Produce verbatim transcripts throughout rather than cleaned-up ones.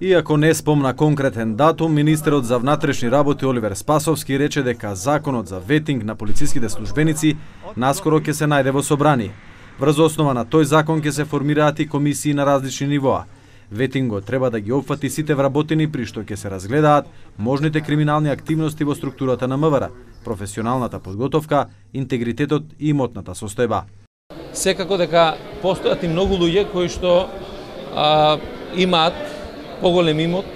Иако не спомна конкретен датум, министерот за внатрешни работи Оливер Спасовски рече дека законот за ветинг на полициските службеници наскоро ќе се најде во собрание. Врз основа на тој закон ќе се формираат и комисии на различни нивоа. Ветингот треба да ги опфати сите вработени при што ќе се разгледаат можните криминални активности во структурата на МВР, професионалната подготовка, интегритетот и имотната состојба. Секако дека постојат и многу луѓе кои што а, имаат поголем имот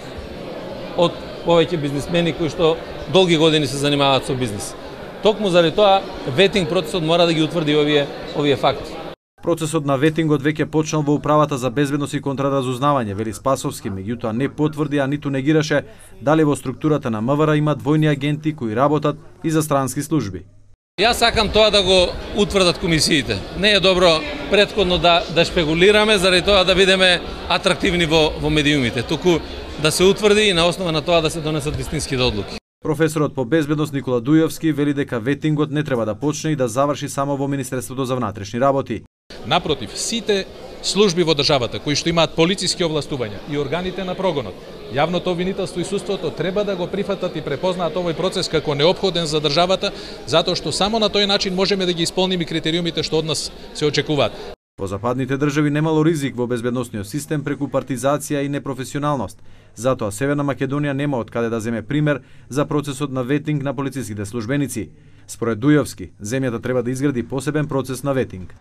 од повеќе бизнисмени кои што долги години се занимаваат со бизнис. Токму заради тоа ветинг процесот мора да ги утврди овие овие факти. Процесот на ветингот веќе почнал во Управата за безбедност и контраразузнавање, вели Спасовски, меѓутоа не потврди, а ниту негираше дали во структурата на МВР има двојни агенти кои работат и за странски служби. Јас сакам тоа да го утврдат комисиите. Не е добро претходно да да шпекулираме заради тоа да бидеме атрактивни во во медиумите, туку да се утврди и на основа на тоа да се донесат вистинските одлуки. Професорот по безбедност Никола Дујовски вели дека ветингот не треба да почне и да заврши само во Министерството за внатрешни работи. Напротив, сите служби во државата кои што имаат полициски овластувања и органите на прогонот, јавното обвинителство и судството треба да го прифатат и препознаат овој процес како неопходен за државата, затоа што само на тој начин можеме да ги исполниме критериумите што од нас се очекуваат. Во западните држави немало ризик во безбедносниот систем преку партизација и непрофесионалност. Затоа Северна Македонија нема од каде да земе пример за процесот на ветинг на полициските службеници. Според Дујовски, земјата треба да изгради посебен процес на ветинг.